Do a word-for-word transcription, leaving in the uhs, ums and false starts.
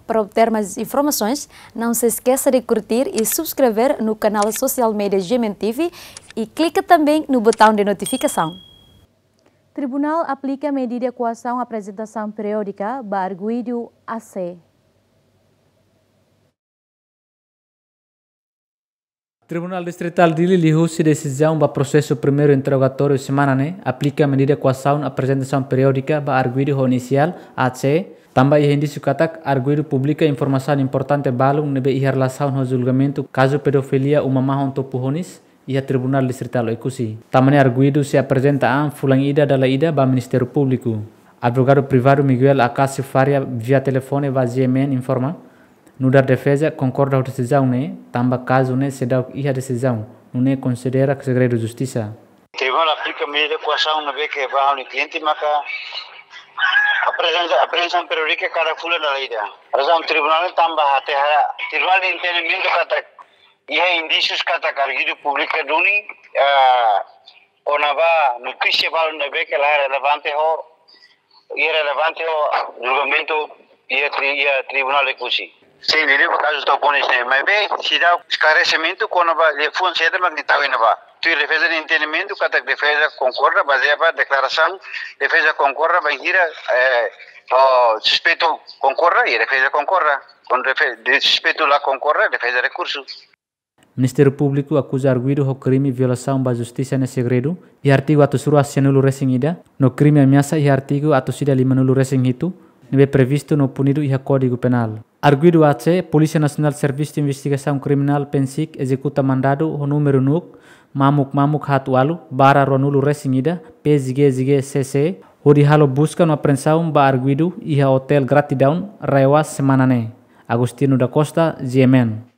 Para obter mais informações, não se esqueça de curtir e subscrever no canal social media G M N T V e clica também no botão de notificação. Tribunál aplika medida koasaun aprezentasaun periódika ba arguidu A C. Tribunál Distritál Dili liuhusi desizaun ba prosesu primeiru interrogatóriu semana ne'e aplika medida koasaun aprezentasaun periódika ba arguidu ho inisiál A C, tanba iha indísiu katak arguidu publika informasaun importante balun ne'ebé iha relasaun ho julgamentu kazu pedofilia uma mahon Topu Honis iha Tribunál Distritál Oekusi. Tanba ne'e arguidu sei aprezenta an fulan ida dala ida ba Ministériu Públiku. Advogadu privadu Miguel Acácio Faria via telefone ba G M N informa, nu'udar defeza konkorda ho desizaun ne'e, tanba kazu ne'e seidauk iha desizaun, nune'e konsidera segredu justisa. Tribunál aplika medida koasaun ne'ebé ke ba ha'u-nia kliente maka aprezenta, aprezentasaun periódika kada fulan dala ida. Razaun tribunál tanba hatene, tribunál nia entendimentu katak iha indísius katak arguidu publika duni, ah, kona-ba notísia balun ne'ebé ke la relevante ho, irrelevante ho julgamentu iha tri-, iha Tribunál Oekusi. Sin, liuliu kazu Topu Honis ne'e, maibé seidauk esklaresimentu kona-ba liafuan saida mak nia tau iha ne'ebá. Tuir defeza nia entendimentu katak defeza konkorda bazeia ba deklarasaun, defeza konkorda bainhira, eh, o suspeitu konkorda, i defeza konkorda. Kuandu defe-, de suspeitu la konkorda, defeza rekursu. Ministériu Públiku akuza arguidu ho krime violasaun ba justisa ne'e segredu, iha artigu atus rua sianulu resin ida, no krime ameasa iha artigu atus ida limanulu resin hitu, ne'ebé previstu no punidu iha Kódigu Penál. Arguidu A C, Polísia Nasionál Servisu Investigasaun Kriminál, PNSIK, ezekuta mandadu ho númeru NUC mamuk mamuk haat ualu barra ruanulu resin ida, P Z G Z G C C, hodi halo buska no apreensaun ba arguidu iha Otél Gratidaun, RAEOA, semana ne'e. Agostinho da Costa, G M N.